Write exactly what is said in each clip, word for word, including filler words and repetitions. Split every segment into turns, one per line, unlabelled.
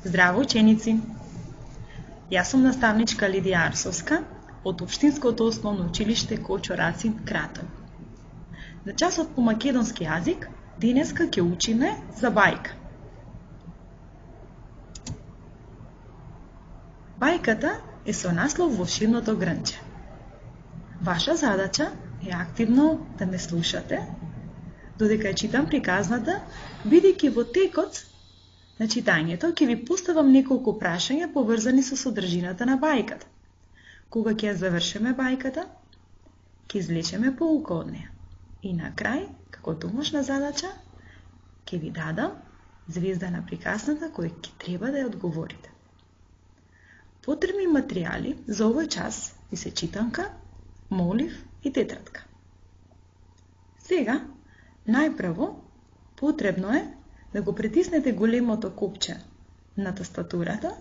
Здраво, ученици! Јас сум наставничка Лидија Арсовска од Општинското основно училиште Кочо Рацин Кратово. На часот по македонски јазик денеска ќе учиме за бајка. Бајката е со наслов Волшебното грнче. Ваша задача е активно да ме слушате, додека ја читам приказната, бидејќи во текот на читањето ќе ви поставам неколку прашања поврзани со содржината на бајката. Кога ќе ја завршиме бајката, ќе извлечеме поука од неја. И на крај, како домашна задача, ќе ви дадам звезда на приказната која ќе треба да ја одговорите. Потребни материјали за овој час ви се читанка, молив и тетрадка. Сега, најпрво, потребно е да го притиснете големото копче на тастатурата,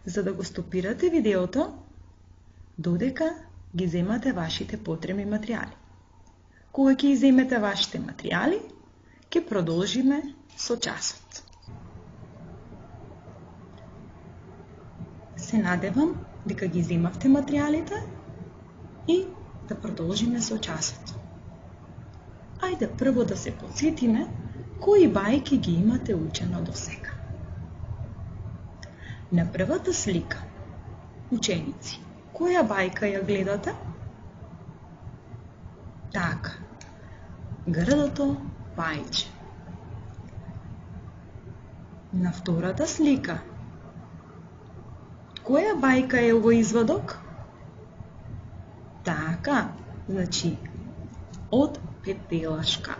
за да го стопирате видеото, додека ги земате вашите потребни материјали. Кога ќе иземете вашите материјали, ќе продолжиме со часот. Се надевам дека ги земавте материјалите и да продолжиме со часот. Ајде прво да се потсетиме кои бајки ги имате учено до сега. На првата слика, ученици, која бајка ја гледате? Така, грдото бајче. На втората слика, која бајка е овој извадок? Така, значи, од пепелашка.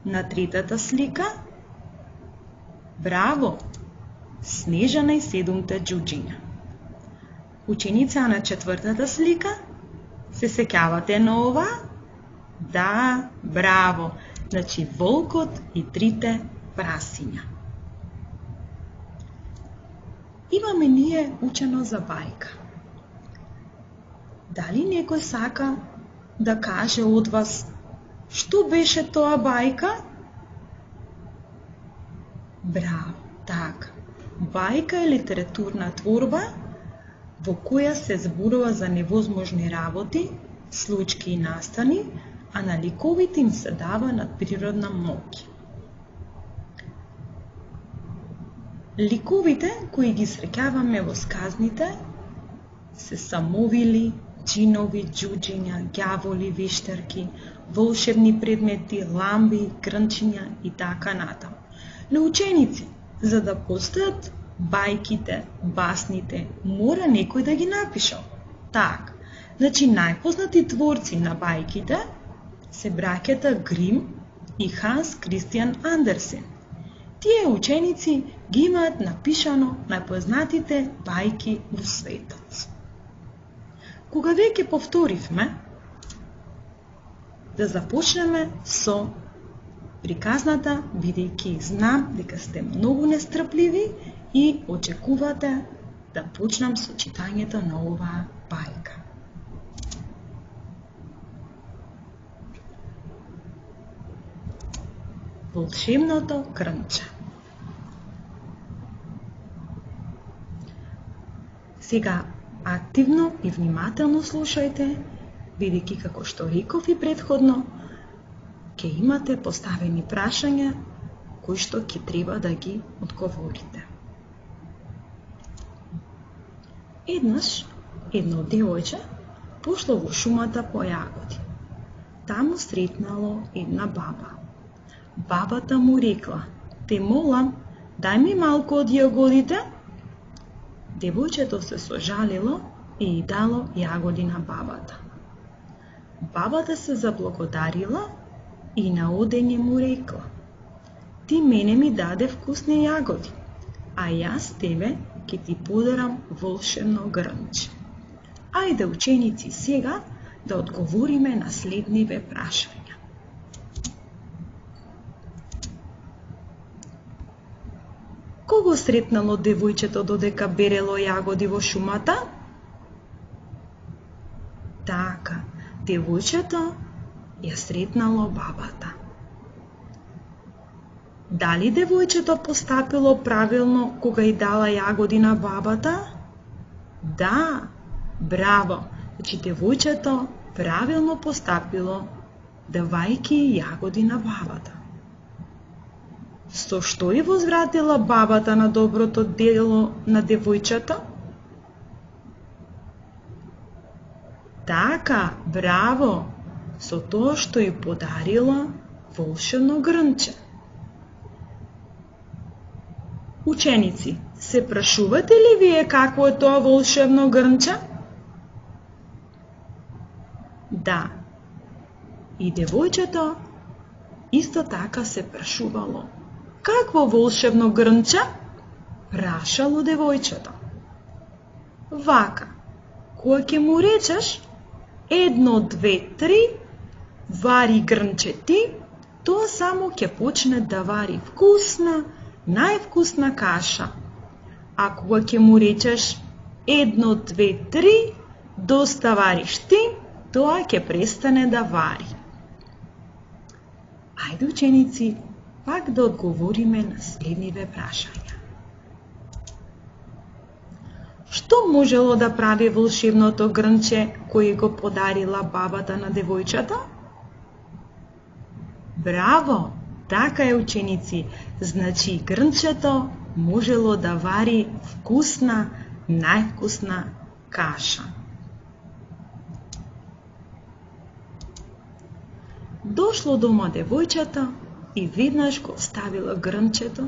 На третата слика, браво, Снежана и седумте џуџиња. Ученица на четвртата слика, се сеќавате на ова? Да, браво, значи волкот и трите прасиња. Имаме ние учено за бајка. Дали некој сака да каже од вас што беше тоа бајка? Браво, така. Бајка е литературна творба во која се зборува за невозможни работи, случки и настани, а на ликовите им се дава надприродна моќ. Ликовите кои ги среќаваме во сказните се самовили, џинови, џуџиња, ѓаволи, вештарки, волшебни предмети, ламби, грнчиња и така натаму. Но ученици, за да постојат бајките, басните, мора некој да ги напишал. Так, значи најпознати творци на бајките се браќата Грим и Ханс Кристијан Андерсен. Тие ученици ги имаат напишано најпознатите бајки во светот. Кога веќе повторивме, да започнеме со приказната, бидејќи знам дека сте многу нестрпливи и очекувате да почнам со читањето на оваа бајка. Волшебното грнче. Сега активно и внимателно слушајте, бидејќи како што реков и предходно, ќе имате поставени прашања кои што ќе треба да ги одговорите. Еднаш, едно девојче пошло во шумата по јагоди. Таму сретнало една баба. Бабата му рекла: "Те молам, дај ми малку од јагодите." Девојчето се сожалило и дало јагоди на бабата. Бабата се заблагодарила и на одење му рекла: "Ти мене ми даде вкусни јагоди, а јас тебе ќе ти подарам волшебно грнче." Ајде, ученици, сега да одговориме на следниве прашања. Кого сретнало девојчето додека берело јагоди во шумата? Така, девојчето ја сретнало бабата. Дали девојчето постапило правилно кога и дала јагоди на бабата? Да, браво! Значи девојчето правилно постапило давајќи јагоди на бабата. Со што и возвратила бабата на доброто дело на девојчето? Така, браво! Со тоа што и подарила волшебно грнче. Ученици, се прашувате ли вие какво е тоа волшебно грнче? Да. И девојчето исто така се прашувало. Какво волшебно грнче? Прашало девојчето. Вака, кој ќе му речеш едно, две, три, вари грнче ти, тоа само ќе почне да вари вкусна, највкусна каша. А кога ќе му речеш едно, две, три, доста вариш ти, тоа ќе престане да вари. Ајде ученици, пак да одговориме на следниве прашања. Што можело да прави волшебното грнче кој го подарила бабата на девојчето? Браво! Така е, ученици, значи грнчето можело да вари вкусна, највкусна каша. Дошло дома девојчето и веднаш го оставила грнчето,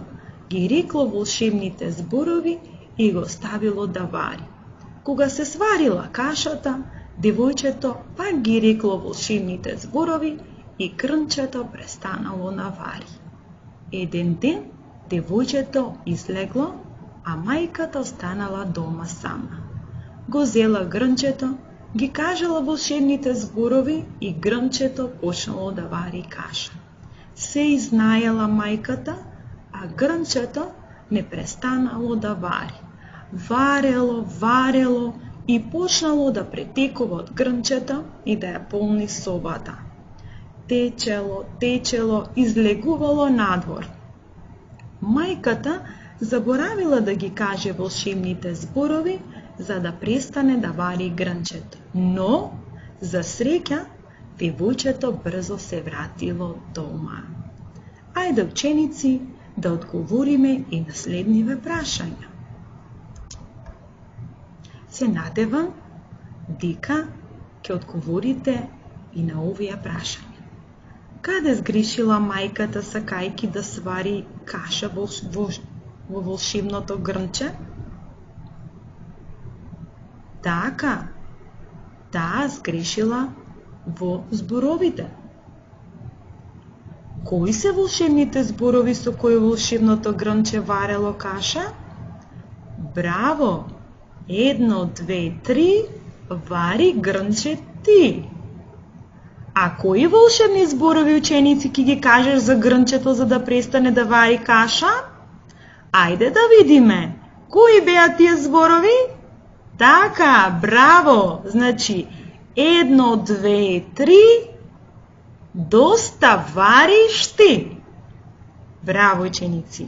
ги рекло волшебните зборови и го оставило да вари. Кога се сварила кашата, девојчето пак ги рекло волшебните зборови и грнчето престанало да вари. Еден ден девојчето излегло, а мајката останала дома сама. Го зела грнчето, ги кажала волшебните зборови и грнчето почнало да вари каша. Се изнаела мајката, а грнчето не престанало да вари. Варело, варело и почнало да претекува од грнчето и да ја полни собата. Течело, течело, излегувало надвор. Мајката заборавила да ги каже волшебните зборови, за да престане да вари грнчето. Но, за среќа, девојчето брзо се вратило дома. Ајде, ученици, да одговориме и на следниве прашања. Се надевам дека ќе одговорите и на овие прашања. Каде сгрешила мајката сакајки да свари каша во, во, во волшебното грнче? Така, таа сгрешила во зборовите. Кои се волшебните зборови со кои волшебното грнче варело каша? Браво! Едно, две, три, вари грнче ти. А кои волшебни зборови, ученици, ќе ги кажеш за грнчето за да престане да вари каша? Ајде да видиме. Кои беа тие зборови? Така, браво! Значи, едно, две, три, доста вариш ти. Браво, ученици!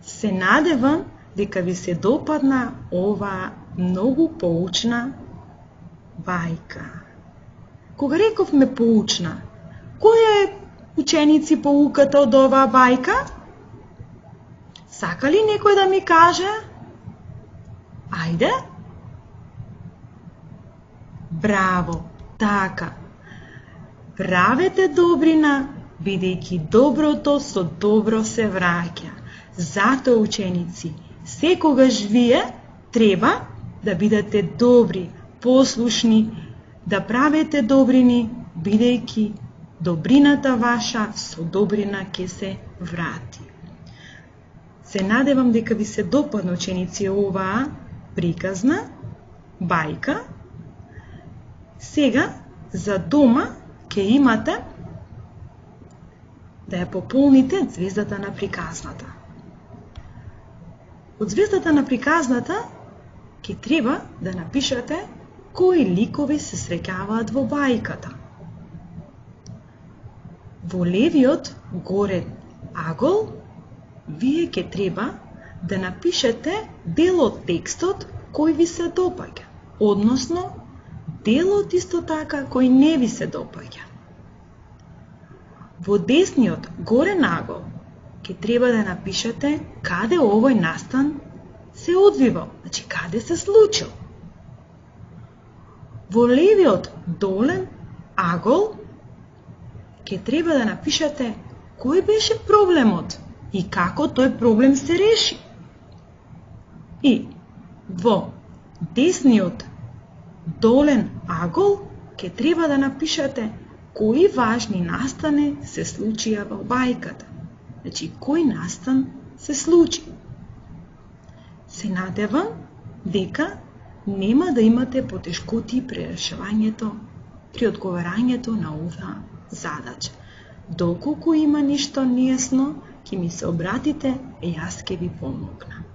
Се надевам дека ви се допадна ова многу поучна бајка. Кога рековме поучна, која е, ученици, поуката од оваа бајка? Сака ли некој да ми каже? Ајде? Браво, така. Правете добрина, бидејќи доброто со добро се враќа. Затоа, ученици, секогаш вие треба да бидете добри, послушни, да правите добрини, бидејќи добрината ваша со добрина ќе се врати. Се надевам дека ви се допадна, ученици, оваа приказна бајка. Сега, за дома, ќе имате да ја пополните звездата на приказната. Од звездата на приказната ќе треба да напишете кои ликови се среќаваат во бајката. Во левиот горен агол вие ќе треба да напишете дел од текстот кој ви се допаѓа, односно делот исто така кој не ви се допаѓа. Во десниот горе нагол ќе треба да напишете каде овој настан се одвивал, значи каде се случил. Во левиот долен агол ќе треба да напишете кој беше проблемот и како тој проблем се реши. И во десниот долен агол ќе треба да напишете кои важни настани се случија во бајката. Значи, кој настан се случи. Се надевам дека нема да имате потешкоти при решавањето, при одговарањето на оваа задача. Доколку има нешто нејасно, ќе ми се обратите и јас ќе ви помогнам.